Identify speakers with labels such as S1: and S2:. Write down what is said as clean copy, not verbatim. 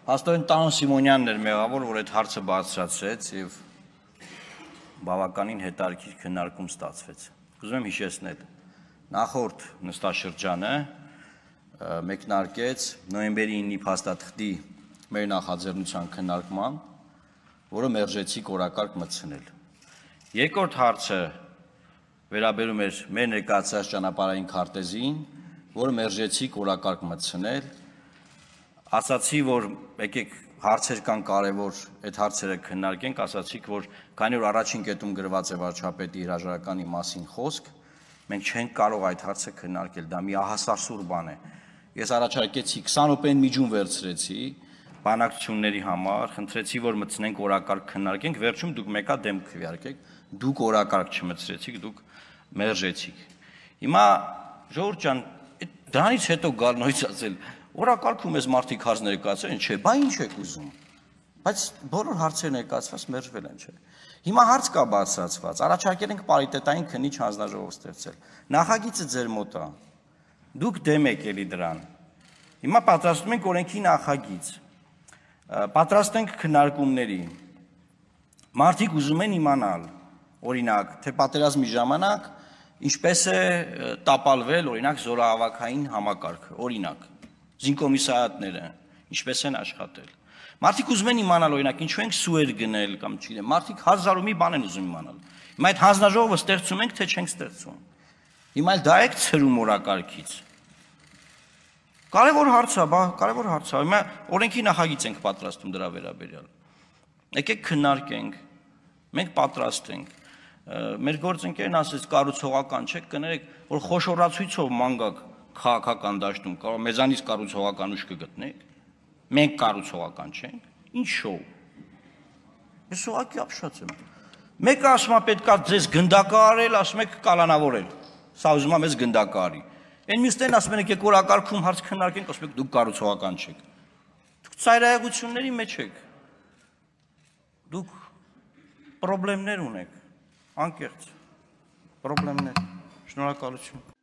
S1: Հաստորեն Տան Սիմոնյանն էր մեղավոր, որ այդ հարցը բարձրացրեց եւ բավականին հետաքրքիր քննարկում ստացվեց։ Ուզում եմ հիշեցնել, նախորդ նստաշրջանը մեկնարկեց նոյեմբերի 9-ի փաստաթղթի մեր նախաձեռնության քննարկման, որը մերժեցիք օրակարգ մտցնել։ Երկրորդ հարցը վերաբերում էր մեր ներկայացրած ճանապարհային քարտեզին, որը մերժեցիք օրակարգ մտցնել։ Ասացի, որ եկեք հարցեր կան կարևոր, այդ հարցերը քննարկենք, ասացիք, որ քանի որ առաջին կետում գրված է վարչապետի հրաժարականի մասին խոսք, մենք չենք կարող այդ հարցը քննարկել, դա մի ահասարսուր բան է։ Ես առաջարկեցի 20 րոպեն միջում վերցրեցի բանակցությունների համար, խնդրեցի, որ մտցնենք օրակարգ քննարկենք, վերջում դուք մեկա դեմ քվեարկեք, դուք օրակարգ չմտցրեցիք, դուք մերժեցիք։ Հիմա ժողովուրդ ջան, դրանից հետո գալ նույնց ասել Օրակարգում ես մարդիկ հարց ներկայացրել են, չէ, բա ինչ եք ուզում, բայց բոլոր հարցերը ներկայացված մերժվել են, չէ։ Հիմա հարց կա բարձրացված, առաջարկել ենք պարիտետային քննիչ հանձնաժողով ստեղծել, նախագիծը ձեր մոտ է, դուք դեմ եք էլի դրան, հիմա պատրաստում ենք օրենքի նախագիծ, պատրաստենք քննարկումների, մարդիկ ուզում են իմանալ, օրինակ, թե պատերազմի ժամանակ ինչպես է տապալվել, օրինակ, զորահավաքային համակարգը, օրինակ զինկոմիսարիատները ինչպես են աշխատել։ Մարդիկ ուզում են իմանալ, օրինակ, ինչու ենք սուեր գնել կամ չգիտեմ, մարդիկ հազար ու մի բան են ուզում իմանալ։ Հիմա այդ հանձնաժողովը ստեղծում ենք, թե չենք ստեղծում։ Հիմա դա եք ցրում օրակարգից։ Կարևոր հարց է, կարևոր հարց է։ Հիմա օրենքի նախագիծ ենք պատրաստում դրա վերաբերյալ։ Եկեք քննարկենք, մենք պատրաստ ենք։ Մեր գործընկերն ասեց կառուցողական չէ, կներեք, որ խոշորացույցով ման գաք քաղաքական դաշտում, կարող մեզանից կառուցողական ուժ կգտնեք, մենք կառուցողական չենք, ինչ շոու։ Ես ուղղակի ապշած եմ։ Մեկը ասում է պետքա ձեզ գնդակարել, ասում եք կալանավորել։ Սա ուզում է մեզ գնդակարի։ Այն մյուսներն ասում են եկեք օրակարգում հարց քննարկենք, ասում եք դուք կառուցողական չեք։ Դուք ծայրահեղությունների մեջ եք։ Դուք խնդիրներ ունեք, անկեղծ խնդիրներ։ Շնորհակալություն։